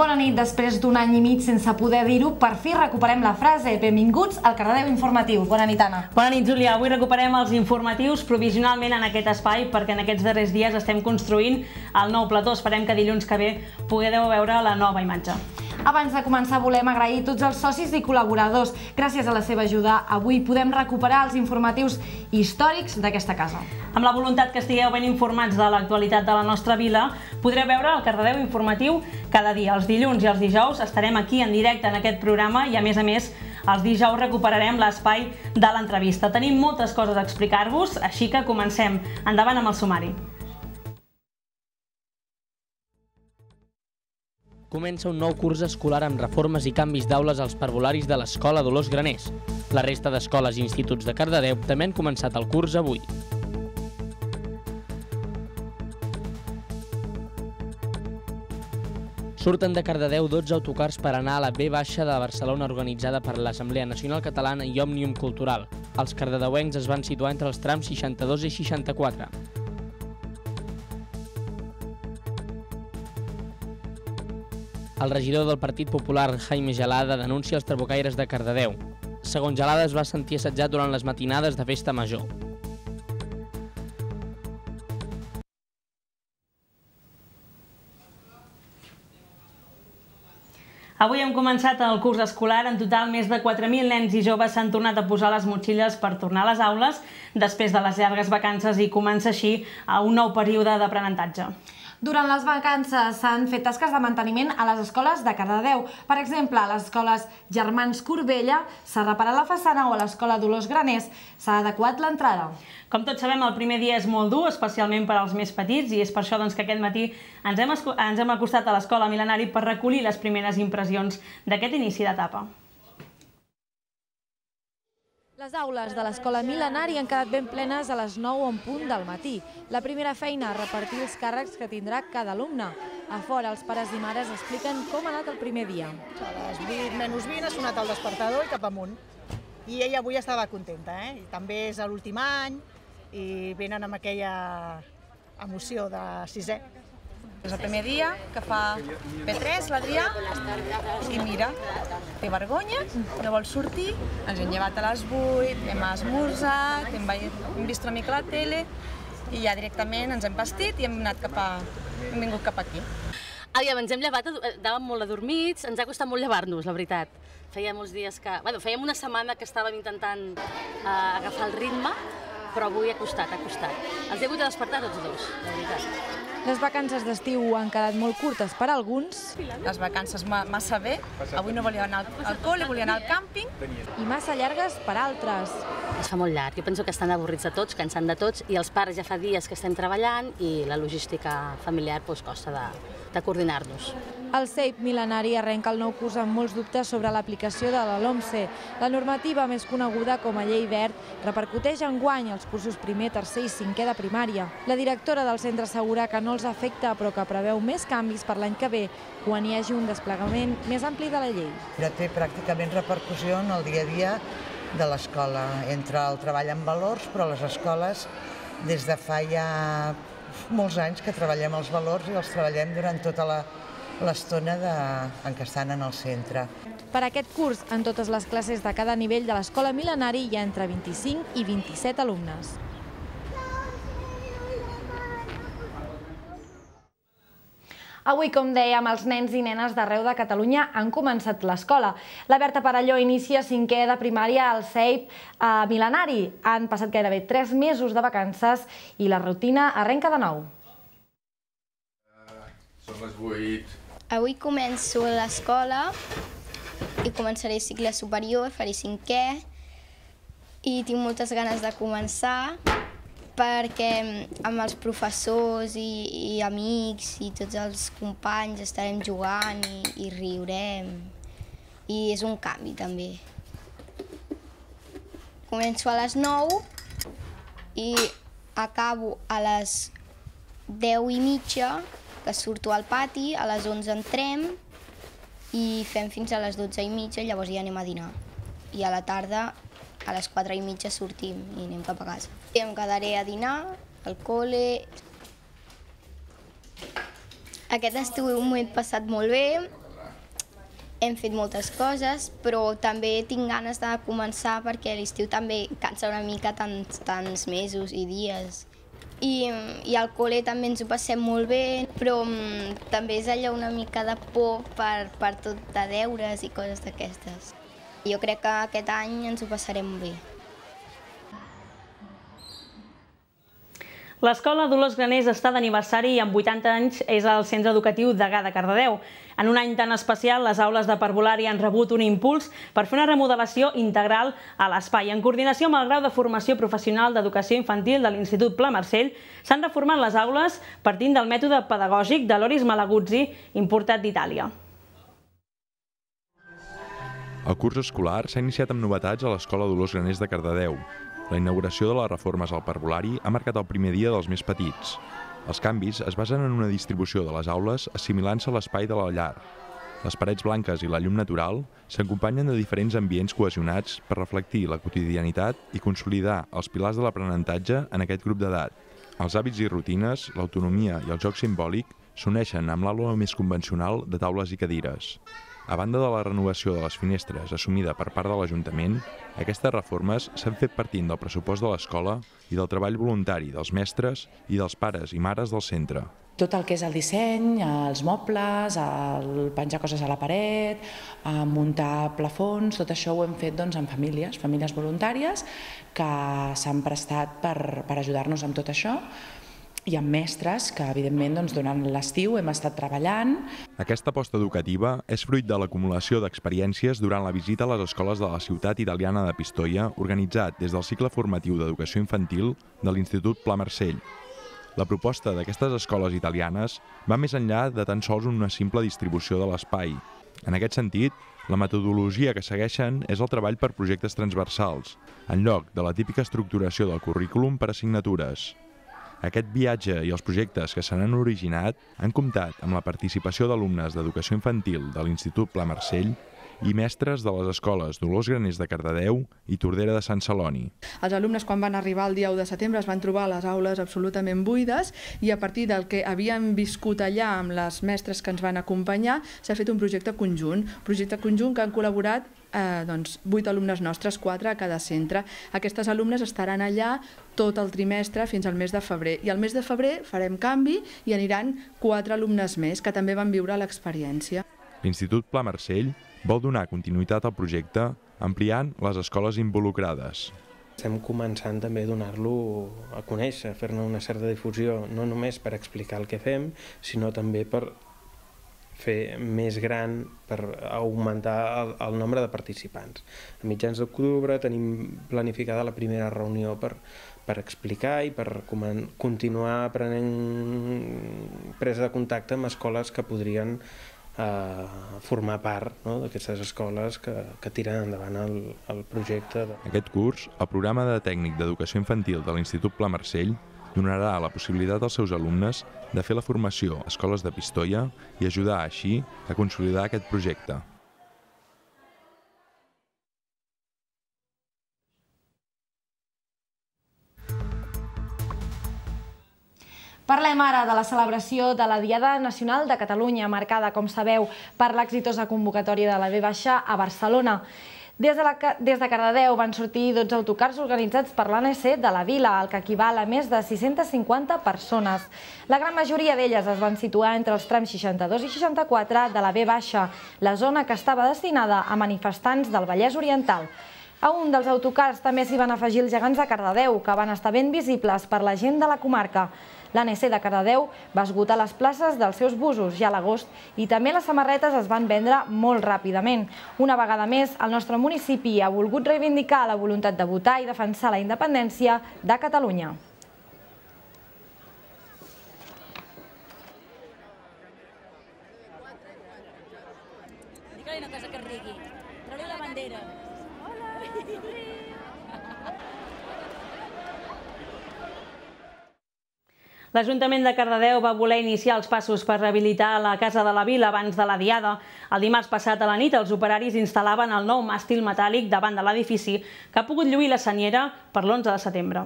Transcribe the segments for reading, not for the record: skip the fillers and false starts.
Bona nit. Després d'un any i mig sense poder dir-ho, per fi recuperem la frase. Benvinguts al Cardedeu Informatiu. Bona nit, Anna. Bona nit, Júlia. Avui recuperem els informatius provisionalment en aquest espai perquè en aquests darrers dies estem construint el nou plató. Esperem que dilluns que ve pugueu veure la nova imatge. Abans de començar, volem agrair tots els socis i col·laboradors. Gràcies a la seva ajuda, avui podem recuperar els informatius històrics d'aquesta casa. Amb la voluntat que estigueu ben informats de l'actualitat de la nostra vila, podreu veure el Cardedeu Informatiu cada dia. Els dilluns i els dijous estarem aquí en directe en aquest programa i, a més, els dijous recuperarem l'espai de l'entrevista. Tenim moltes coses a explicar-vos, així que comencem. Endavant amb el sumari. Comença un nou curs escolar amb reformes i canvis d'aules als parvularis de l'Escola Dolors Graners. La resta d'escoles i instituts de Cardedeu també han començat el curs avui. Surten de Cardedeu 12 autocars per anar a la B baixa de Barcelona organitzada per l'Assemblea Nacional Catalana i Òmnium Cultural. Els cardedeuencs es van situar entre els trams 62 i 64. El regidor del Partit Popular, Jaime Gelada, denuncia els trabucaires de Cardedeu. Segons Gelada, es va sentir assetjat durant les matinades de festa major. Avui hem començat el curs escolar. En total, més de 4.000 nens i joves s'han tornat a posar les motxilles per tornar a les aules després de les llargues vacances i comença així un nou període d'aprenentatge. Durant les vacances s'han fet tasques de manteniment a les escoles de Cardedeu. Per exemple, a les escoles Germans Corbella s'ha reparat la façana o a l'escola Dolors Graners s'ha adequat l'entrada. Com tots sabem, el primer dia és molt dur, especialment per als més petits, i és per això que aquest matí ens hem acostat a l'Escola Mil·lenari per recollir les primeres impressions d'aquest inici d'etapa. Les aules de l'Escola Mil·lenari han quedat ben plenes a les 9 en punt del matí. La primera feina, repartir els càrrecs que tindrà cada alumne. A fora, els pares i mares expliquen com ha anat el primer dia. A les 8:20 ha sonat el despertador i cap amunt. I ella avui estava contenta, I també és l'últim any i venen amb aquella emoció de sisè. És el primer dia que fa P3, l'Adrià, i mira, té vergonya, no vol sortir, ens hem llevat a les 8, hem esmorzat, hem vist una mica la tele i ja directament ens hem vestit i hem vingut cap aquí. Aviam, ens hem llevat, anàvem molt adormits, ens ha costat molt llevar-nos, la veritat. Feia molts dies que... Bueno, fèiem una setmana que estàvem intentant agafar el ritme, però avui ha costat. Els he hagut de despertar tots dos, la veritat. Les vacances d'estiu han quedat molt curtes per a alguns. Les vacances massa bé, avui no volia anar al col·le, volia anar al càmping. I massa llargues per a altres. Es fa molt llarg, jo penso que estan avorrits de tots, cansant de tots, i els pares ja fa dies que estem treballant i la logística familiar costa de coordinar-nos. El CEIP Mil·lenari arrenca el nou curs amb molts dubtes sobre l'aplicació de la LOMCE. La normativa, més coneguda com a Llei Wert, repercuteix enguany als cursos primer, tercer i cinquè de primària. La directora del centre assegura que no els afecta, però que preveu més canvis per l'any que ve, quan hi hagi un desplegament més ampli de la llei. Ja té pràcticament repercussió en el dia a dia de l'escola, entre el treball en valors, però les escoles des de fa ja molts anys que treballem els valors i els treballem durant tota l'estona en què estan en el centre. Per aquest curs, en totes les classes de cada nivell de l'Escola Mil·lenari hi ha entre 25 i 27 alumnes. Avui, com dèiem, els nens i nenes d'arreu de Catalunya han començat l'escola. La Berta Parelló inicia 5è de primària al CEIP Mil·lenari. Han passat gairebé 3 mesos de vacances i la rutina arrenca de nou. Són les 8. Avui començo l'escola i començaré cicle superior, faré 5è i tinc moltes ganes de començar perquè amb els professors i amics i tots els companys estarem jugant i riurem i és un canvi també. Començo a les 9 i acabo a les 10:30, que surto al pati, a les 11 entrem i fem fins a les 12:30, llavors ja anem a dinar. I a la tarda, a les 4:30 sortim i anem cap a casa. I em quedaré a dinar, al col·le. Aquest estiu m'ho he passat molt bé, hem fet moltes coses, però també tinc ganes de començar perquè l'estiu també cansa una mica tants mesos i dies. I al col·le també ens ho passem molt bé, però també és allò una mica de por per tot de deures i coses d'aquestes. Jo crec que aquest any ens ho passarem bé. L'Escola Dolors Graners està d'aniversari i amb 80 anys és el centre educatiu Degà de Cardedeu. En un any tan especial, les aules de parvulari han rebut un impuls per fer una remodelació integral a l'espai. En coordinació amb el grau de formació professional d'educació infantil de l'Institut Pla Marcell, s'han reformat les aules partint del mètode pedagògic de Loris Malaguzzi, importat d'Itàlia. El curs escolar s'ha iniciat amb novetats a l'Escola Dolors Graners de Cardedeu. La inauguració de les reformes al parvulari ha marcat el primer dia dels més petits. Els canvis es basen en una distribució de les aules assimilant-se a l'espai de la llar. Les parets blanques i la llum natural s'acompanyen de diferents ambients cohesionats per reflectir la quotidianitat i consolidar els pilars de l'aprenentatge en aquest grup d'edat. Els hàbits i rutines, l'autonomia i el joc simbòlic s'uneixen amb l'aula més convencional de taules i cadires. A banda de la renovació de les finestres assumida per part de l'Ajuntament, aquestes reformes s'han fet partint del pressupost de l'escola i del treball voluntari dels mestres i dels pares i mares del centre. Tot el que és el disseny, els mobles, el penjar coses a la paret, muntar plafons, tot això ho hem fet amb famílies voluntàries que s'han prestat per ajudar-nos amb tot això. I amb mestres que, evidentment, durant l'estiu hem estat treballant. Aquesta aposta educativa és fruit de l'acumulació d'experiències durant la visita a les escoles de la ciutat italiana de Pistoia, organitzat des del cicle formatiu d'educació infantil de l'Institut Pla Marcell. La proposta d'aquestes escoles italianes va més enllà de tan sols una simple distribució de l'espai. En aquest sentit, la metodologia que segueixen és el treball per projectes transversals, en lloc de la típica estructuració del currículum per assignatures. Aquest viatge i els projectes que se n'han originat han comptat amb la participació d'alumnes d'educació infantil de l'Institut Pla Marcell i mestres de les escoles Dolors Graners de Cardedeu i Tordera de Sant Celoni. Els alumnes, quan van arribar el dia 1 de setembre, es van trobar les aules absolutament buides i a partir del que havíem viscut allà amb les mestres que ens van acompanyar, s'ha fet un projecte conjunt que han col·laborat 8 alumnes nostres, 4 a cada centre. Aquestes alumnes estaran allà tot el trimestre fins al mes de febrer. I al mes de febrer farem canvi i aniran 4 alumnes més que també van viure l'experiència. L'Institut Pla Marcell vol donar continuïtat al projecte ampliant les escoles involucrades. Estem començant també a donar-lo a conèixer, fer-ne una certa difusió, no només per explicar el que fem, sinó també per fer més gran, per augmentar el nombre de participants. A mitjans d'octubre tenim planificada la primera reunió per explicar i per continuar prenent presa de contacte amb escoles que podrien formar part d'aquestes escoles que tiren endavant el projecte. Aquest curs, el programa de tècnic d'educació infantil de l'Institut Pla Marcell donarà la possibilitat als seus alumnes de fer la formació a escoles de Pistoia i ajudar així a consolidar aquest projecte. Parlem ara de la celebració de la Diada Nacional de Catalunya, marcada, com sabeu, per l'exitosa convocatòria de la V a Barcelona. Des de Cardedeu van sortir 12 autocars organitzats per l'ANC de la Vila, el que equival a més de 650 persones. La gran majoria d'elles es van situar entre els trams 62 i 64 de la V, la zona que estava destinada a manifestants del Vallès Oriental. A un dels autocars també s'hi van afegir els gegants de Cardedeu, que van estar ben visibles per la gent de la comarca. L'ANC de Cardedeu va esgotar les places dels seus busos ja a l'agost i també les samarretes es van vendre molt ràpidament. Una vegada més, el nostre municipi ha volgut reivindicar la voluntat de votar i defensar la independència de Catalunya. Digue-li una cosa que rigui. Treu-li la bandera. Hola! L'Ajuntament de Cardedeu va voler iniciar els passos per rehabilitar la Casa de la Vila abans de la Diada. El dimarts passat a la nit, els operaris instal·laven el nou màstil metàl·lic davant de l'edifici, que ha pogut lluir la senyera per l'11 de setembre.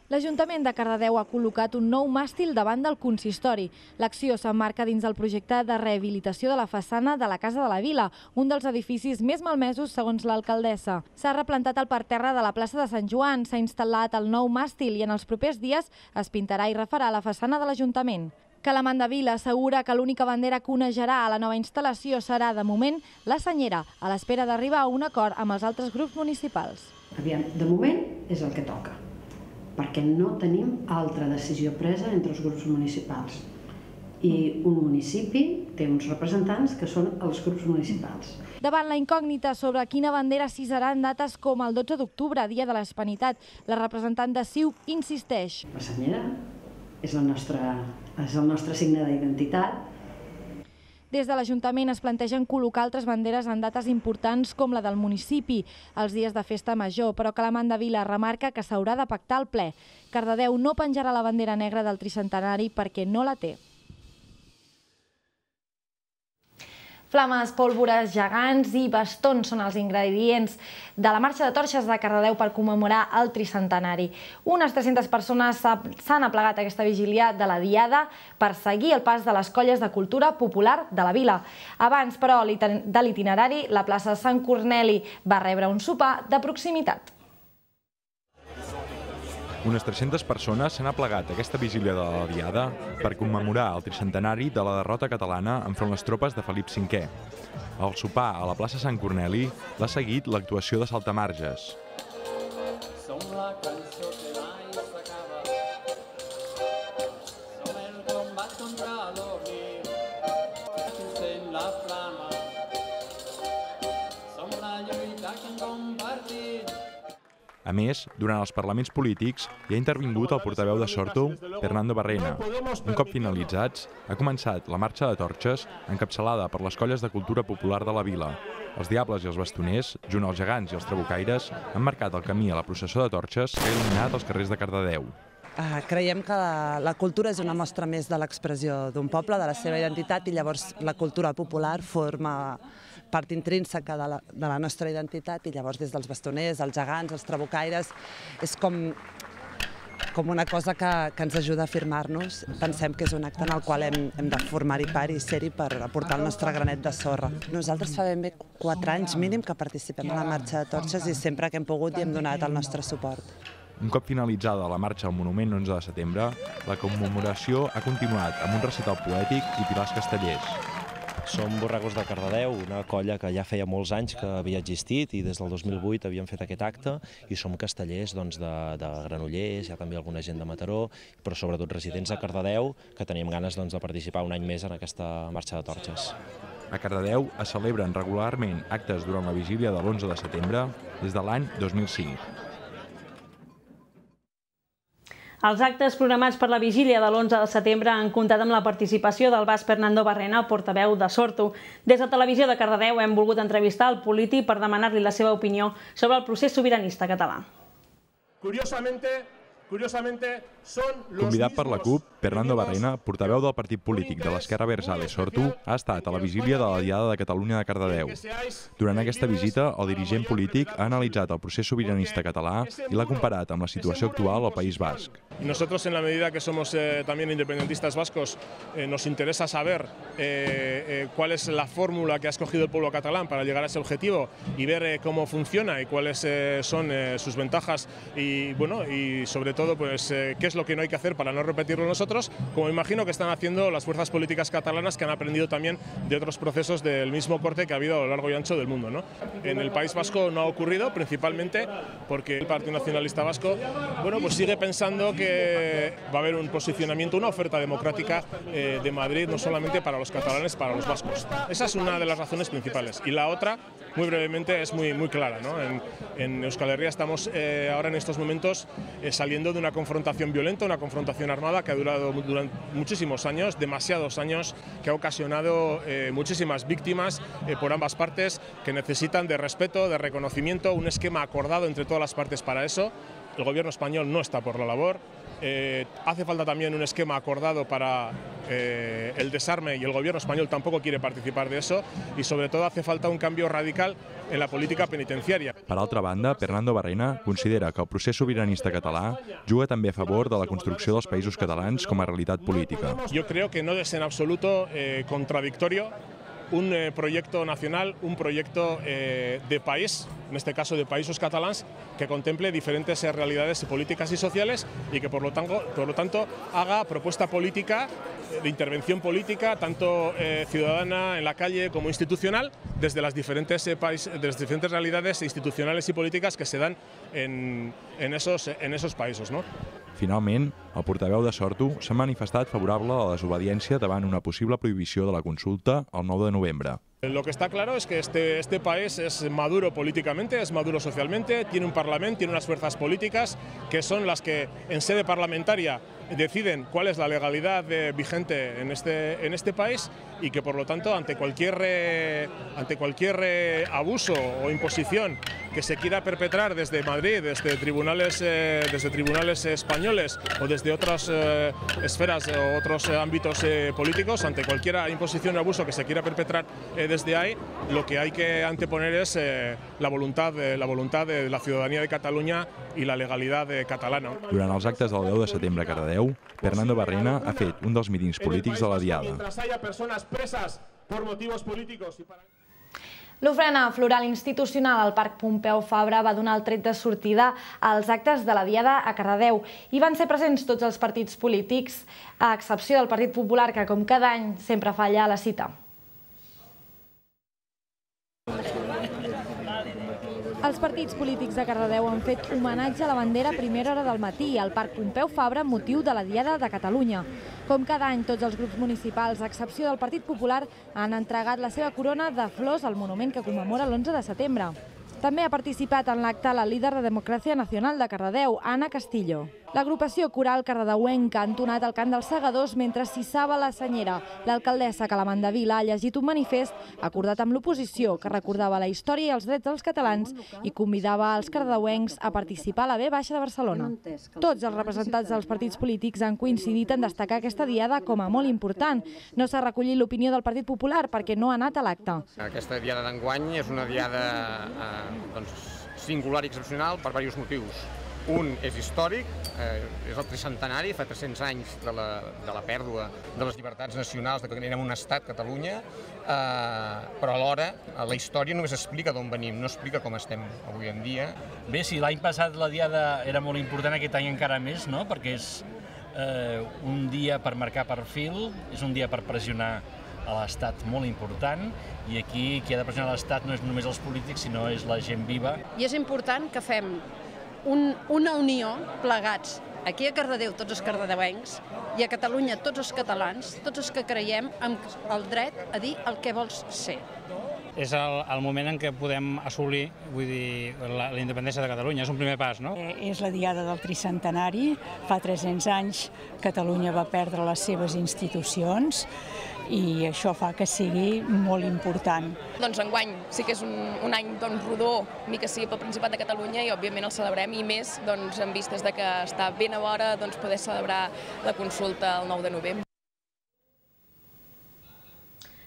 L'Ajuntament de Cardedeu ha col·locat un nou màstil davant del consistori. L'acció s'emmarca dins del projecte de rehabilitació de la façana de la Casa de la Vila, un dels edificis més malmesos segons l'alcaldessa. S'ha replantat el parterre de la plaça de Sant Joan, s'ha instal·lat el nou màstil i en els propers dies es pintarà i refarà la façana de l'Ajuntament. Calamant de Vila assegura que l'única bandera que onejarà a la nova instal·lació serà, de moment, la senyera, a l'espera d'arribar a un acord amb els altres grups municipals. Aviam, de moment és el que toca, perquè no tenim altra decisió presa entre els grups municipals. I un municipi té uns representants que són els grups municipals. Davant la incògnita sobre quina bandera s'hissarà en dates com el 12 d'octubre, Dia de l'Hispanitat, la representant de CiU insisteix. La senyera és el nostre signe d'identitat. Des de l'Ajuntament es plantegen col·locar altres banderes en dates importants com la del municipi, els dies de festa major, però Calamant de Vila remarca que s'haurà de pactar al ple. Cardedeu no penjarà la bandera negra del tricentenari perquè no la té. Flames, pólvores, gegants i bastons són els ingredients de la marxa de torxes de Cardedeu per commemorar el tricentenari. Unes 300 persones s'han aplegat a aquesta vigília de la Diada per seguir el pas de les colles de cultura popular de la vila. Abans, però, de l'itinerari, la plaça Sant Corneli va rebre un sopar de proximitat. Unes 300 persones s'han aplegat a aquesta vigília de la Diada per commemorar el tricentenari de la derrota catalana enfront les tropes de Felip V. Al sopar a la plaça Sant Corneli l'ha seguit l'actuació de saltamarges. Som la cançó que mai s'acaba, som el combat contra l'oblit, encén la flama, som la lluita que hem compartit. A més, durant els parlaments polítics hi ha intervingut el portaveu de Sortu, Fernando Barrena. Un cop finalitzats, ha començat la marxa de torxes encapçalada per les colles de cultura popular de la vila. Els diables i els bastoners, junt als gegants i els trabucaires, han marcat el camí a la processó de torxes que ha il·luminat els carrers de Cardedeu. Creiem que la cultura és una mostra més de l'expressió d'un poble, de la seva identitat, i llavors la cultura popular forma part intrínseca de la nostra identitat, i llavors des dels bastoners, els gegants, els trabucaires, és com una cosa que ens ajuda a afirmar-nos. Pensem que és un acte en el qual hem de formar-hi part i ser-hi per aportar el nostre granet de sorra. Nosaltres fa ben bé 4 anys mínim que participem a la marxa de torxes i sempre que hem pogut hi hem donat el nostre suport. Un cop finalitzada la marxa al monument 11 de setembre, la commemoració ha continuat amb un recital poètic i pilars castellers. Som Borregos de Cardedeu, una colla que ja feia molts anys que havia existit i des del 2008 havíem fet aquest acte, i som castellers de Granollers, hi ha també alguna gent de Mataró, però sobretot residents de Cardedeu que teníem ganes de participar un any més en aquesta marxa de torxes. A Cardedeu es celebren regularment actes durant la vigília de l'11 de setembre des de l'any 2005. Els actes programats per la vigília de l'11 de setembre han comptat amb la participació del basc Fernando Barrena, portaveu de Sortu. Des de Televisió de Cardedeu hem volgut entrevistar el polític per demanar-li la seva opinió sobre el procés sobiranista català. Convidat per la CUP, Fernando Barrena, portaveu del partit polític de l'Esquerra Abertzale Sortu, ha estat a la vigília de la Diada de Catalunya de Cardedeu. Durant aquesta visita, el dirigent polític ha analitzat el procés sobiranista català i l'ha comparat amb la situació actual al País Basc. Nosotros, en la medida que somos también independentistas vascos, nos interesa saber cuál es la fórmula que ha escogido el pueblo catalán para llegar a ese objetivo y ver cómo funciona y cuáles son sus ventajas y, bueno, y sobre todo pues, qué es lo que no hay que hacer para no repetirlo nosotros, como imagino que están haciendo las fuerzas políticas catalanas que han aprendido también de otros procesos del mismo corte que ha habido a lo largo y ancho del mundo, ¿no? En el País Vasco no ha ocurrido, principalmente porque el Partido Nacionalista Vasco, bueno, pues sigue pensando que va a haber un posicionamiento, una oferta democrática de Madrid, no solamente para los catalanes, para los vascos. Esa es una de las razones principales. Y la otra, muy brevemente, es muy clara, ¿no? En Euskal Herria estamos ahora en estos momentos saliendo de una confrontación violenta, una confrontación armada que ha durado durante muchísimos años, demasiados años, que ha ocasionado muchísimas víctimas por ambas partes, que necesitan de respeto, de reconocimiento, un esquema acordado entre todas las partes para eso. el gobierno español no está por la labor. Hace falta también un esquema acordado para el desarme y el gobierno español tampoco quiere participar de eso y sobre todo hace falta un cambio radical en la política penitenciària. Per altra banda, Pernando Barrena considera que el procés sobiranista català juga també a favor de la construcció dels països catalans com a realitat política. Yo creo que no es en absoluto contradictorio un proyecto nacional, un proyecto de país, en este caso de països catalans, que contemple diferentes realidades políticas y sociales y que por lo tanto haga propuesta política, de intervención política, tanto ciudadana en la calle como institucional, desde las diferentes realidades institucionales y políticas que se dan en esos països, ¿no? Finalment, el portaveu de Sortu s'ha manifestat favorable a la desobediència davant una possible prohibició de la consulta el 9 de novembre. Lo que está claro es que este país es maduro políticamente, es maduro socialmente, tiene un parlamento, tiene unas fuerzas políticas que son las que en sede parlamentaria deciden cuál es la legalidad vigente en este país y que por lo tanto ante cualquier abuso o imposición que se quiera perpetrar desde Madrid, desde tribunales españoles o desde otras esferas o otros ámbitos políticos, ante cualquier imposición o abuso que se quiera perpetrar desde ahí, lo que hay que anteponer es la voluntad de la ciudadanía de Cataluña y la legalidad catalana. Durant els actes del 10 de setembre a Cardedeu, Pernando Barrena ha fet un dels mítings polítics de la Diada. L'ofrena floral institucional al Parc Pompeu Fabra va donar el tret de sortida als actes de la Diada a Cardedeu i van ser presents tots els partits polítics, a excepció del Partit Popular, que com cada any sempre falla a la cita. Els partits polítics de Cardedeu han fet homenatge a la bandera a primera hora del matí al Parc Pompeu Fabra amb motiu de la Diada de Catalunya. Com cada any, tots els grups municipals, a excepció del Partit Popular, han entregat la seva corona de flors al monument que commemora l'11 de setembre. També ha participat en l'acte la líder de Democràcia Nacional de Cardedeu, Anna Castillo. L'agrupació coral cardedeuenca ha entonat el cant dels segadors mentre s'hissava la senyera. L'alcaldessa Calamanda Vila ha llegit un manifest acordat amb l'oposició que recordava la història i els drets dels catalans i convidava els cardedeuencs a participar a la V de Barcelona. Tots els representants dels partits polítics han coincidit en destacar aquesta diada com a molt important. No s'ha recollit l'opinió del Partit Popular perquè no ha anat a l'acte. Aquesta diada d'enguany és una diada singular i excepcional per diversos motius. Un és històric, és el tricentenari, fa 300 anys de la pèrdua de les llibertats nacionals, que érem un estat, Catalunya, però alhora la història només explica d'on venim, no explica com estem avui en dia. Bé, si l'any passat la diada era molt important, aquest any encara més, no? Perquè és un dia per marcar perfil, és un dia per pressionar a l'Estat molt important, i aquí qui ha de pressionar l'Estat no és només els polítics, sinó és la gent viva. I és important que fem una unió plegats, aquí a Cardedeu tots els cardedeuencs i a Catalunya tots els catalans, tots els que creiem en el dret a dir el que vols ser. És el moment en què podem assolir, vull dir, la independència de Catalunya. És un primer pas, no? És la diada del tricentenari. Fa 300 anys Catalunya va perdre les seves institucions i això fa que sigui molt important. Doncs enguany sí que és un any rodó, ni que sigui pel Principat de Catalunya, i òbviament el celebrem, i més en vistes que està ben a l'hora poder celebrar la consulta el 9 de novembre.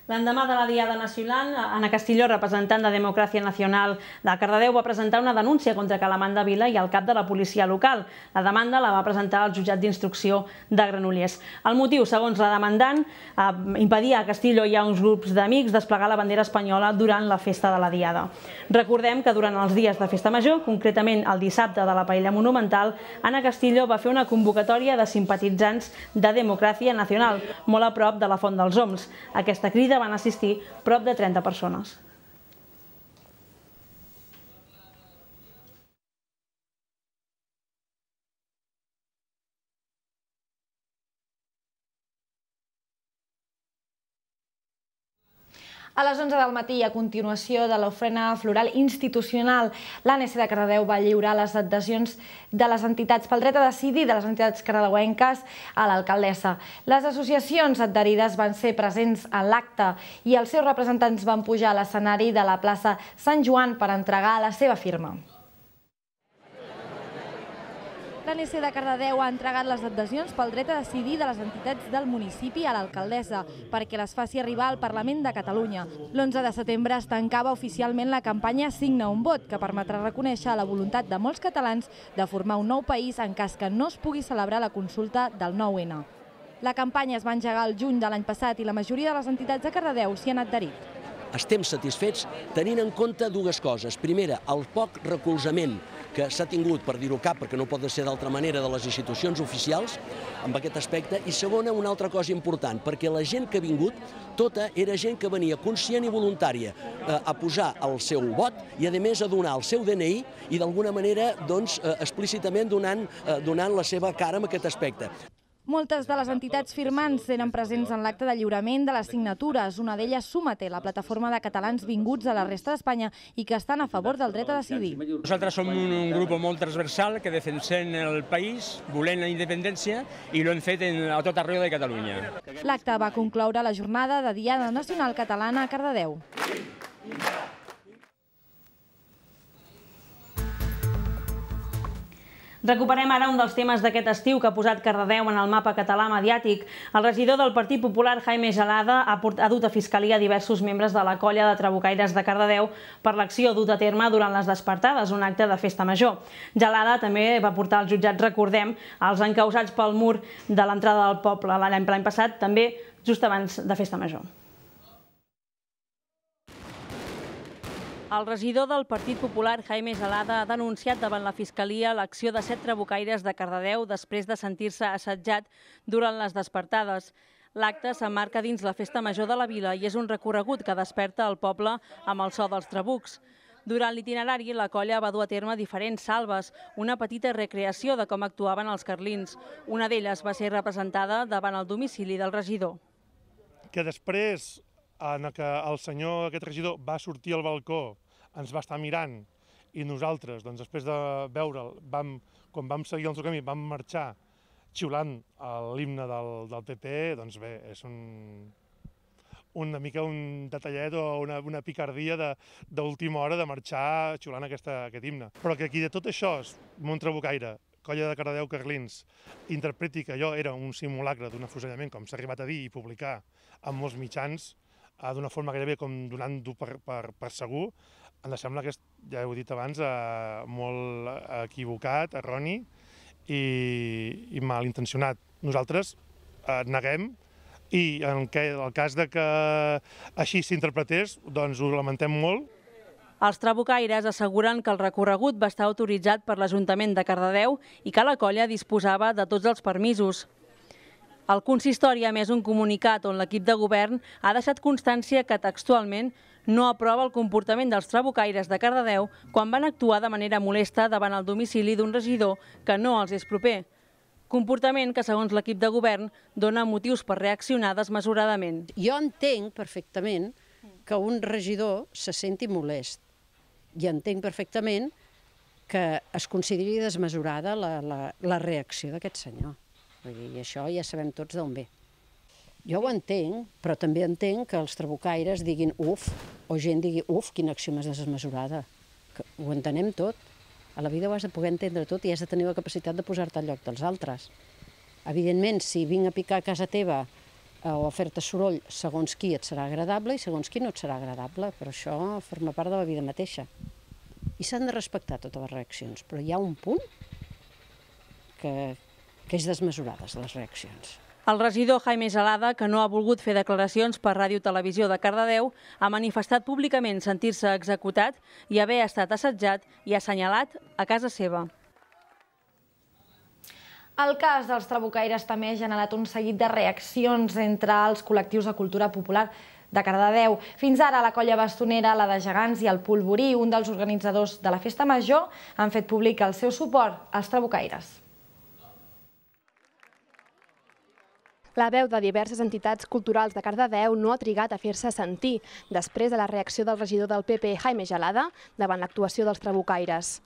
L'endemà de la Diada Nacional, Anna Castillo, representant de Democràcia Nacional de Cardedeu, va presentar una denúncia contra Calamanda Vila i el cap de la policia local. La demanda la va presentar al jutjat d'instrucció de Granollers. El motiu, segons la demandant, impedia a Castillo i a uns grups d'amics desplegar la bandera espanyola durant la festa de la Diada. Recordem que durant els dies de festa major, concretament el dissabte de la Paella Monumental, Anna Castillo va fer una convocatòria de simpatitzants de Democràcia Nacional, molt a prop de la Font dels Oms. Aquesta crida van assistir prop de 30 persones. A les 11 del matí, a continuació de l'ofrena floral institucional, l'ANC de Cardedeu va lliurar les adhesions de les entitats pel dret a decidir de les entitats cardedeuenques a l'alcaldessa. Les associacions adherides van ser presents en l'acte i els seus representants van pujar a l'escenari de la plaça Sant Joan per entregar la seva firma. L'ANC de Cardedeu ha entregat les adhesions pel dret a decidir de les entitats del municipi a l'alcaldessa perquè les faci arribar al Parlament de Catalunya. L'11 de setembre es tancava oficialment la campanya Signa un vot, que permetrà reconèixer la voluntat de molts catalans de formar un nou país en cas que no es pugui celebrar la consulta del 9N. La campanya es va engegar el juny de l'any passat i la majoria de les entitats de Cardedeu s'hi han adherit. Estem satisfets tenint en compte dues coses. Primera, el poc recolzament que s'ha tingut, per dir-ho cap, perquè no pot ser d'altra manera, de les institucions oficials amb aquest aspecte. I segona, una altra cosa important, perquè la gent que ha vingut, tota era gent que venia conscient i voluntària a posar el seu vot i, a més, a donar el seu DNI i, d'alguna manera, explícitament donant la seva cara en aquest aspecte. Moltes de les entitats firmants eren presents en l'acte de lliurament de les signatures. Una d'elles Súmate, la plataforma de catalans vinguts a la resta d'Espanya i que estan a favor del dret a decidir. Nosaltres som un grup molt transversal que defensem el país, volem la independència i l'hem fet a tot arreu de Catalunya. L'acte va concloure la jornada de Diada Nacional Catalana a Cardedeu. Recuperem ara un dels temes d'aquest estiu que ha posat Cardedeu en el mapa català mediàtic. El regidor del Partit Popular, Jaime Gelada, ha dut a Fiscalia diversos membres de la colla de trabucaires de Cardedeu per l'acció dut a terme durant les despertades, un acte de festa major. Gelada també va portar als jutjats, recordem, els encausats pel mur de l'entrada del poble l'any passat, també just abans de festa major. El regidor del Partit Popular, Jaime Gelada, ha denunciat davant la Fiscalia l'acció de 7 trabucaires de Cardedeu després de sentir-se assetjat durant les despertades. L'acte s'emmarca dins la festa major de la vila i és un recorregut que desperta el poble amb el so dels trabucs. Durant l'itinerari, la colla va dur a terme diferents salves, una petita recreació de com actuaven els carlins. Una d'elles va ser representada davant el domicili del regidor. Que després en què el senyor, aquest regidor, va sortir al balcó, ens va estar mirant i nosaltres, després de veure'l, quan vam seguir el seu camí, vam marxar xiulant l'himne del PP, doncs bé, és una mica un detallet o una picardia d'última hora de marxar xiulant aquest himne. Però que aquí de tot això, un trabucaire, colla de Cardedeu Carlins, interpreti que allò era un simulacre d'un afusellament, com s'ha arribat a dir i publicar en molts mitjans, d'una forma gairebé com donant-ho per segur, em sembla que, ja ho he dit abans, molt equivocat, erroni i malintencionat. Nosaltres neguem i en el cas que així s'interpretés, doncs ho lamentem molt. Els trabucaires asseguren que el recorregut va estar autoritzat per l'Ajuntament de Cardedeu i que la colla disposava de tots els permisos. El consistori ha emès un comunicat on l'equip de govern ha deixat constància que textualment no aprova el comportament dels trabucaires de Cardedeu quan van actuar de manera molesta davant el domicili d'un regidor que no els és proper. Comportament que, segons l'equip de govern, dona motius per reaccionar desmesuradament. Jo entenc perfectament que un regidor se senti molest i entenc perfectament que es consideri desmesurada la reacció d'aquest senyor. I això ja sabem tots d'on ve. Jo ho entenc, però també entenc que els trabucaires diguin uf, o gent digui uf, quina acció més desmesurada. Ho entenem tot. A la vida ho has de poder entendre tot i has de tenir la capacitat de posar-te al lloc dels altres. Evidentment, si vinc a picar a casa teva o a fer-te soroll, segons qui et serà agradable i segons qui no et serà agradable, però això forma part de la vida mateixa. I s'han de respectar totes les reaccions, però hi ha un punt que és desmesurades, les reaccions. El regidor Jaime Gelada, que no ha volgut fer declaracions per Ràdio Televisió de Cardedeu, ha manifestat públicament sentir-se executat i haver estat assetjat i assenyalat a casa seva. El cas dels trabucaires també ha generat un seguit de reaccions entre els col·lectius de cultura popular de Cardedeu. Fins ara, la colla bastonera, la de Gegants i el Polvorí, un dels organitzadors de la Festa Major, han fet públic el seu suport als trabucaires. La veu de diverses entitats culturals de Cardedeu no ha trigat a fer-se sentir després de la reacció del regidor del PP, Jaime Gelada, davant l'actuació dels trabucaires.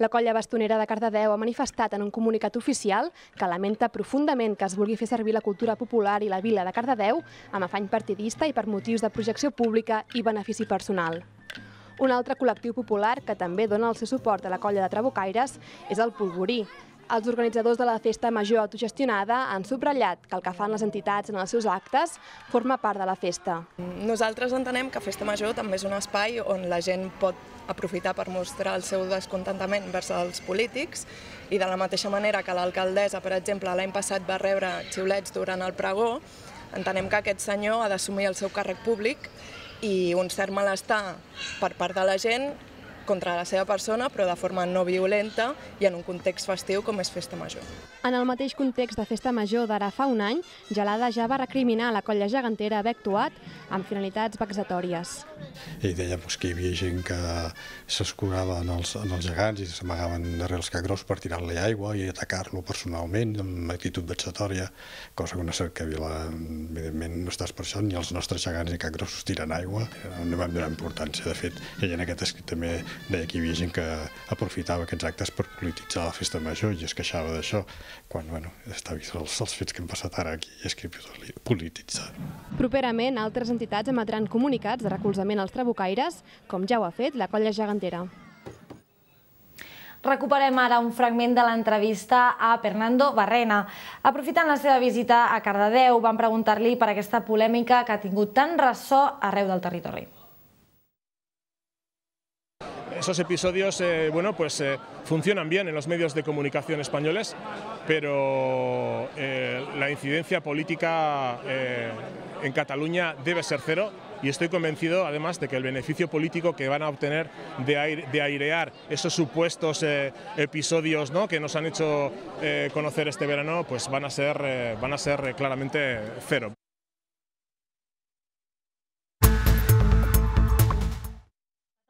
La colla bastonera de Cardedeu ha manifestat en un comunicat oficial que lamenta profundament que es vulgui fer servir la cultura popular i la vila de Cardedeu amb afany partidista i per motius de projecció pública i benefici personal. Un altre col·lectiu popular que també dona el seu suport a la colla de trabucaires és el Polvorí. Els organitzadors de la festa major autogestionada han subratllat que el que fan les entitats en els seus actes forma part de la festa. Nosaltres entenem que Festa Major també és un espai on la gent pot aprofitar per mostrar el seu descontentament vers els polítics i de la mateixa manera que l'alcaldessa, per exemple, l'any passat va rebre xiulets durant el pregó, entenem que aquest senyor ha d'assumir el seu càrrec públic i un cert malestar per part de la gent contra la seva persona, però de forma no violenta i en un context festiu com és Festa Major. En el mateix context de Festa Major d'ara fa un any, Gelada ja va recriminar la colla gegantera haver actuat amb finalitats vexatòries. I deia que hi havia gent que s'escurava en els gegants i s'amagaven darrere els cagros per tirar-li aigua i atacar-lo personalment amb actitud vexatòria, cosa que una cerca vila, evidentment, no estàs per això, ni els nostres gegants ni cagros tiren aigua, no vam donar importància. De fet, ell en aquest escrit també deia que hi havia gent que aprofitava aquests actes per polititzar la Festa Major i es queixava d'això, quan està vist els fets que hem passat ara aquí i és que polititzar. Properament, altres entitats emetran comunicats de recolzament als trabucaires, com ja ho ha fet la colla gegantera. Recuperem ara un fragment de l'entrevista a Fernando Barrena. Aprofitant la seva visita a Cardedeu, van preguntar-li per aquesta polèmica que ha tingut tant ressò arreu del territori. Esos episodios funcionan bien en los medios de comunicación españoles, pero la incidencia política en Cataluña debe ser cero y estoy convencido además de que el beneficio político que van a obtener de airear esos supuestos episodios que nos han hecho conocer este verano pues van a ser claramente cero.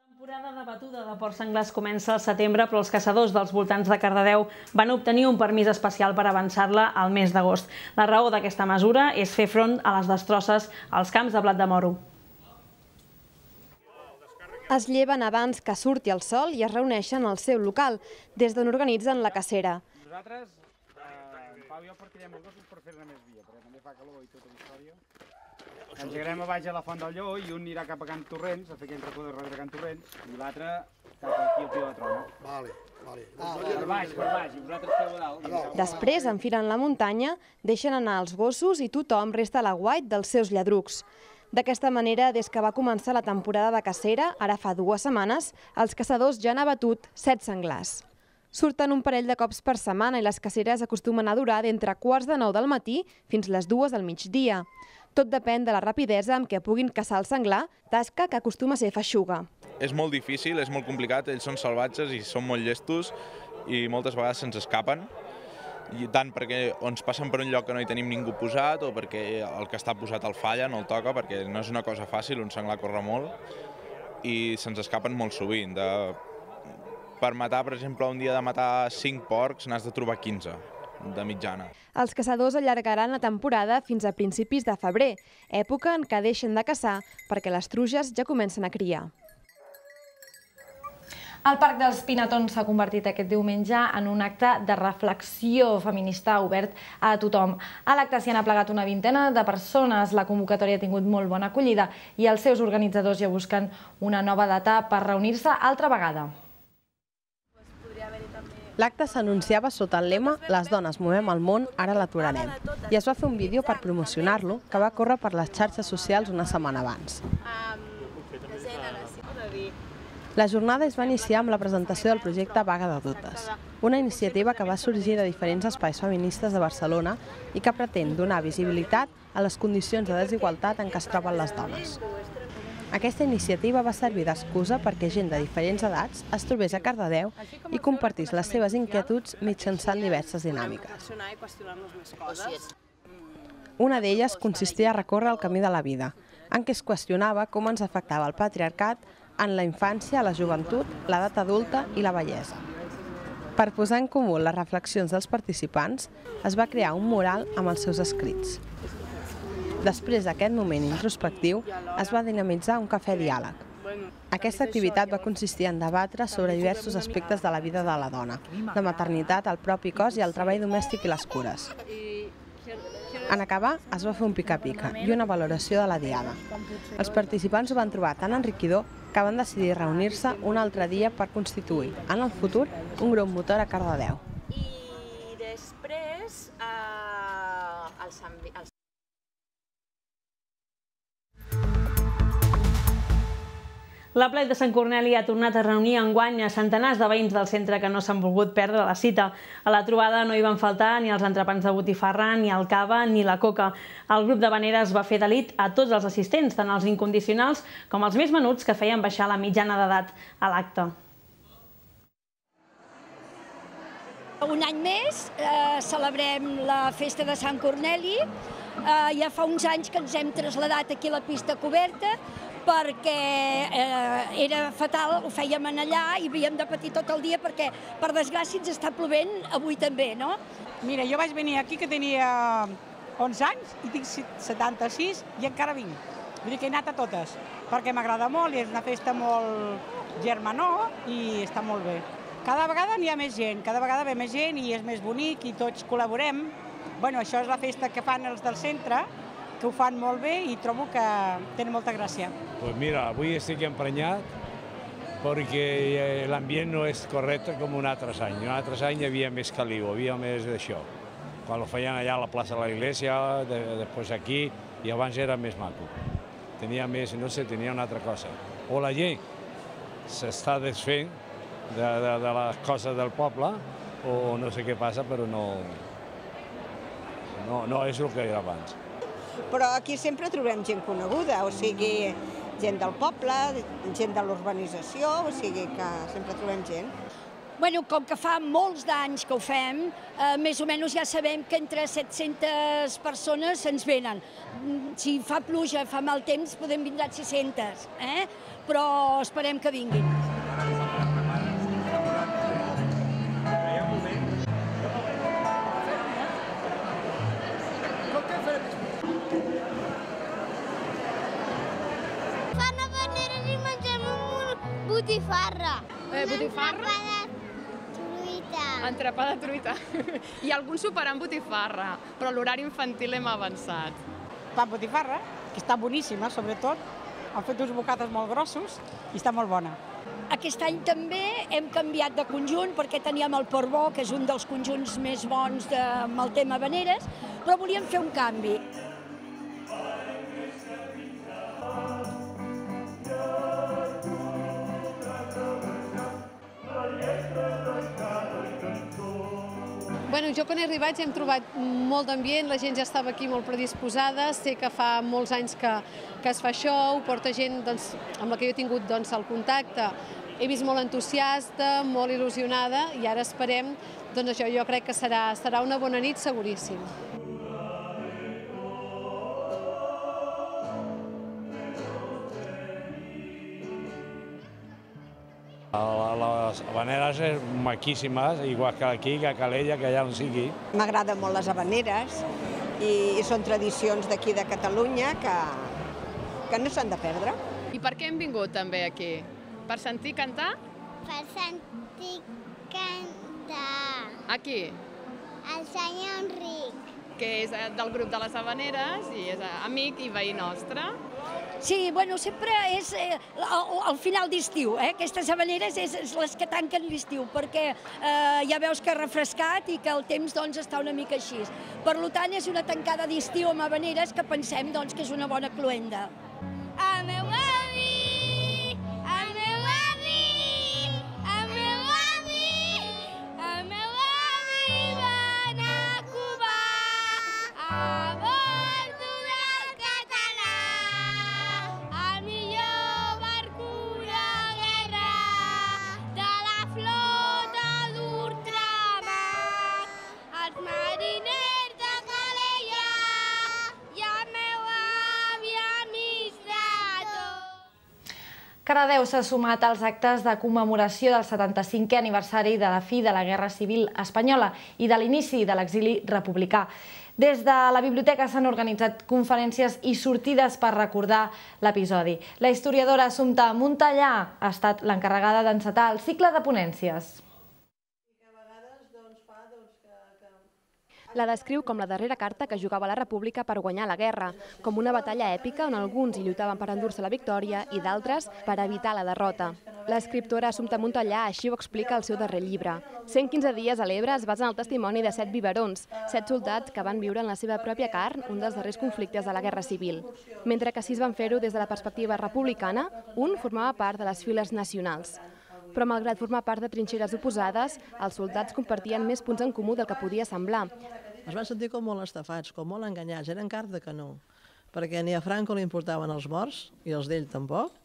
La temporada de batuda de porcs senglars comença al setembre, però els caçadors dels voltants de Cardedeu van obtenir un permís especial per avançar-la al mes d'agost. La raó d'aquesta mesura és fer front a les destrosses als camps de blat de moro. Es lleven abans que surti el sol i es reuneixen al seu local, des d'on organitzen la cacera. Nosaltres, en Pau i jo portarem els gossos per fer-ne més via, perquè també fa calor i tota la història. Ens llegarem a baix a la Font del Lleó i un anirà cap a Can Torrents, a fer aquell racó de darrere Can Torrents, i l'altre cap aquí al Pi de la Trona. Per baix, i vosaltres feu a dalt. Després enfilen la muntanya, deixen anar els gossos i tothom resta a l'aguait dels seus lladrucs. D'aquesta manera, des que va començar la temporada de cacera, ara fa 2 setmanes, els caçadors ja han abatut 7 senglars. Surten un parell de cops per setmana i les caceres acostumen a durar d'entre 8:45 del matí fins les 2 del migdia. Tot depèn de la rapidesa amb què puguin caçar el senglar, tasca que acostuma a ser feixuga. És molt difícil, és molt complicat, ells són salvatges i són molt llestos i moltes vegades se'ns escapen, i tant perquè ens passen per un lloc que no hi tenim ningú posat o perquè el que està posat el falla, no el toca, perquè no és una cosa fàcil, un senglar corre molt i se'ns escapen molt sovint. Per matar, per exemple, un dia de matar 5 porcs n'has de trobar 15 de mitjana. Els caçadors allargaran la temporada fins a principis de febrer, època en què deixen de caçar perquè les truges ja comencen a criar. El Parc dels Pinatons s'ha convertit aquest diumenge en un acte de reflexió feminista obert a tothom. A l'acte s'hi han aplegat una vintena de persones, la convocatòria ha tingut molt bona acollida i els seus organitzadors ja busquen una nova data per reunir-se altra vegada. L'acte s'anunciava sota el lema «Les dones movem el món, ara l'aturarem» i es va fer un vídeo per promocionar-lo que va córrer per les xarxes socials una setmana abans. La jornada es va iniciar amb la presentació del projecte Vaga de Dutes, una iniciativa que va sorgir de diferents espais feministes de Barcelona i que pretén donar visibilitat a les condicions de desigualtat en què es troben les dones. Aquesta iniciativa va servir d'excusa perquè gent de diferents edats es trobés a Cardedeu i compartís les seves inquietuds mitjançant diverses dinàmiques. Una d'elles consistia a recórrer el camí de la vida, en què es qüestionava com ens afectava el patriarcat en la infància, la joventut, l'edat adulta i la vellesa. Per posar en comú les reflexions dels participants, es va crear un mural amb els seus escrits. Després d'aquest moment introspectiu, es va dinamitzar un cafè diàleg. Aquesta activitat va consistir en debatre sobre diversos aspectes de la vida de la dona, la maternitat, el propi cos i el treball domèstic i les cures. En acabar, es va fer un pica-pica i una valoració de la diada. Els participants ho van trobar tan enriquidor que van decidir reunir-se un altre dia per constituir, en el futur, un grup motor a Cardedeu. després els La Plec de Sant Corneli ha tornat a reunir enguany a centenars de veïns del centre que no s'han volgut perdre la cita. A la trobada no hi van faltar ni els entrepans de botifarra, ni el cava, ni la coca. El grup d'havaneres va fer delit a tots els assistents, tant els incondicionals com els més menuts, que feien baixar la mitjana d'edat a l'acte. Un any més celebrem la festa de Sant Corneli. Ja fa uns anys que ens hem traslladat aquí a la pista coberta perquè era fatal, ho fèiem allà i havíem de patir tot el dia perquè, per desgràcia, ens està plovent avui també, no? Mira, jo vaig venir aquí que tenia 11 anys i tinc 76 i encara vinc. Vull dir que he anat a totes, perquè m'agrada molt i és una festa molt germanor i està molt bé. Cada vegada n'hi ha més gent, cada vegada ve més gent i és més bonic i tots col·laborem. Bueno, això és la festa que fan els del centre, que ho fan molt bé i trobo que tenen molta gràcia. Pues mira, avui estic emprenyat perquè l'ambient no és correcte com un altre any. Un altre any hi havia més caliu, havia més d'això. Quan ho feien allà a la plaça de l'Església, després aquí, i abans era més maco. Tenia més, no sé, tenia una altra cosa. O la gent s'està desfent de les coses del poble, o no sé què passa, però no és el que era abans. Però aquí sempre trobem gent coneguda, o sigui, gent del poble, gent de l'urbanització, o sigui que sempre trobem gent. Bueno, com que fa molts d'anys que ho fem, més o menys ja sabem que entre 700 persones se'ns venen. Si fa pluja, fa mal temps, podem vindre 600, però esperem que vinguin. Botifarra. Botifarra? Entrepà de truita. Entrepà de truita. Hi ha algun superant botifarra, però l'horari infantil hem avançat. Pa amb botifarra, que està boníssima, sobretot. Han fet uns bocates molt grossos i està molt bona. Aquest any també hem canviat de conjunt perquè teníem el Portbó, que és un dels conjunts més bons amb el tema habaneres, però volíem fer un canvi. Bueno, jo quan he arribat ja hem trobat molt d'ambient, la gent ja estava aquí molt predisposada, sé que fa molts anys que es fa això, ho porta gent amb la que jo he tingut el contacte. He vist molt entusiasta, molt il·lusionada i ara esperem, això jo crec que serà una bona nit seguríssim. Les havaneres són maquíssimes, igual que aquí, que a Calella, que allà on sigui. M'agraden molt les havaneres i són tradicions d'aquí de Catalunya que no s'han de perdre. I per què hem vingut també aquí? Per sentir cantar? Per sentir cantar. Aquí? El senyor Enric. Que és del grup de les havaneres i és amic i veí nostre. Sí, bueno, sempre és al final d'estiu, aquestes havaneres és les que tanquen l'estiu, perquè ja veus que ha refrescat i que el temps està una mica així. Per tant, és una tancada d'estiu amb havaneres que pensem que és una bona cloenda. El meu avi, el meu avi, el meu avi, el meu avi va anar a Cuba a bordo del català, el millor barco de guerra de la flota d'ultramar, els mariners de Calella i el meu avi administrador. Cardedeu s'ha sumat als actes de commemoració del 75è aniversari de la fi de la Guerra Civil Espanyola i de l'inici de l'exili republicà. Des de la biblioteca s'han organitzat conferències i sortides per recordar l'episodi. La historiadora Assumpta Montellà ha estat l'encarregada d'encetar el cicle de ponències. La descriu com la darrera carta que jugava la República per guanyar la guerra, com una batalla èpica on alguns hi lluitaven per endur-se la victòria i d'altres per evitar la derrota. L'escriptora Assumpta Montellà així ho explica al seu darrer llibre. 115 dies a l'Ebre es basa en el testimoni de 7 biberons, 7 soldats que van viure en la seva pròpia carn un dels darrers conflictes de la Guerra Civil. Mentre que 6 van fer-ho des de la perspectiva republicana, un formava part de les files nacionals. Però malgrat formar part de trinxeres oposades, els soldats compartien més punts en comú del que podia semblar. Es van sentir com molt estafats, com molt enganyats, eren carn de canó, perquè ni a Franco li importaven els morts, i els d'ell tampoc,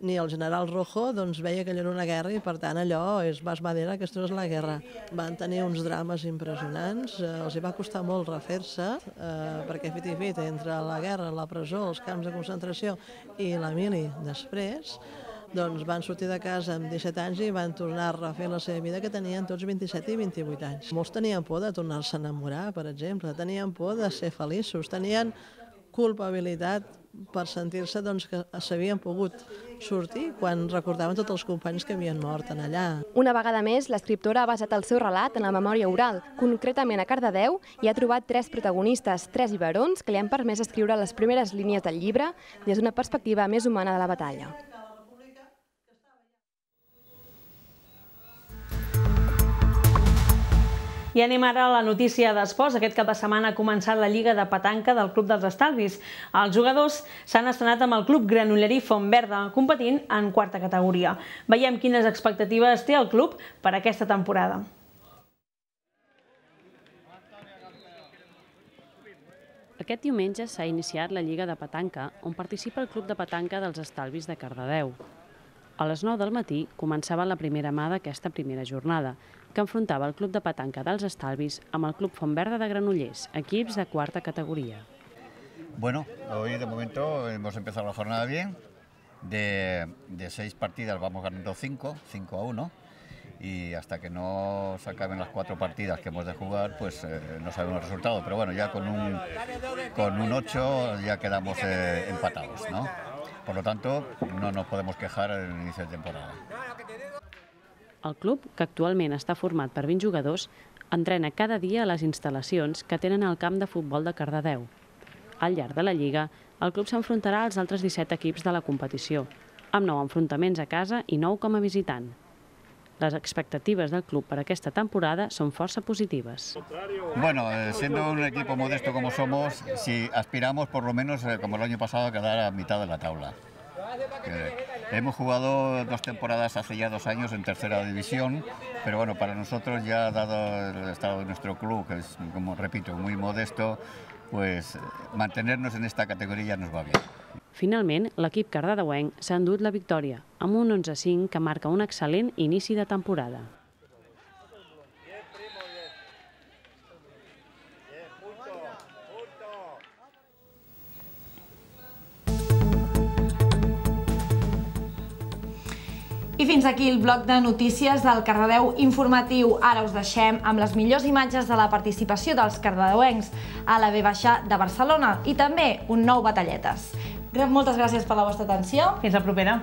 ni el general Rojo veia que allò era una guerra i per tant allò és más madera que esto és la guerra. Van tenir uns drames impressionants, els hi va costar molt refer-se, perquè fet i fet entre la guerra, la presó, els camps de concentració i la mili després, doncs van sortir de casa amb 17 anys i van tornar a refer la seva vida, que tenien tots 27 i 28 anys. Molts tenien por de tornar-se a enamorar, per exemple, tenien por de ser feliços, tenien culpabilitat per sentir-se que s'havien pogut sortir quan recordaven tots els companys que havien mort en allà. Una vegada més, l'escriptora ha basat el seu relat en la memòria oral, concretament a Cardedeu, i ha trobat 3 protagonistes, 3 biberons, que li han permès escriure les primeres línies del llibre des d'una perspectiva més humana de la batalla. I anem ara a la notícia d'esports. Aquest cap de setmana ha començat la Lliga de Petanca del Club dels Estalvis. Els jugadors s'han estrenat amb el Club Granollerí Fontverda, competint en 4a categoria. Veiem quines expectatives té el club per aquesta temporada. Aquest diumenge s'ha iniciat la Lliga de Petanca, on participa el Club de Petanca dels Estalvis de Cardedeu. A les 9 del matí començava la primera mà d'aquesta primera jornada, que enfrontava el Club de Petanca dels Estalvis amb el Club Fontverda de Granollers, equips de 4a categoría. Bueno, hoy de momento hemos empezado la jornada bien. De 6 partidas vamos ganando 5-1. Y hasta que no se acaben las 4 partidas que hemos de jugar, pues no sabemos el resultado. Pero bueno, ya con un 8 ya quedamos empatados, ¿no? Por lo tanto, no nos podemos quejar en el inicio de temporada. El club, que actualment està format per 20 jugadors, entrena cada dia a les instal·lacions que tenen al camp de futbol de Cardedeu. Al llarg de la Lliga, el club s'enfrontarà als altres 17 equips de la competició, amb 9 enfrontaments a casa i 9 com a visitant. Les expectatives del club per aquesta temporada són força positives. Bueno, siendo un equipo modesto como somos, si aspiramos por lo menos, como el año pasado, a quedar a mitad de la tabla. Hemos jugado 2 temporadas hace ya 2 años en tercera división, pero bueno, para nosotros ya dado el estado de nuestro club, que es, como repito, muy modesto, pues mantenernos en esta categoría nos va bien. Finalment, l'equip cardedeuenc s'ha endut la victòria, amb un 11-5 que marca un excel·lent inici de temporada. I fins aquí el bloc de notícies del Cardedeu Informatiu. Ara us deixem amb les millors imatges de la participació dels cardedeuencs a la V de Barcelona i també un nou Batalletes. Moltes gràcies per la vostra atenció. Fins la propera.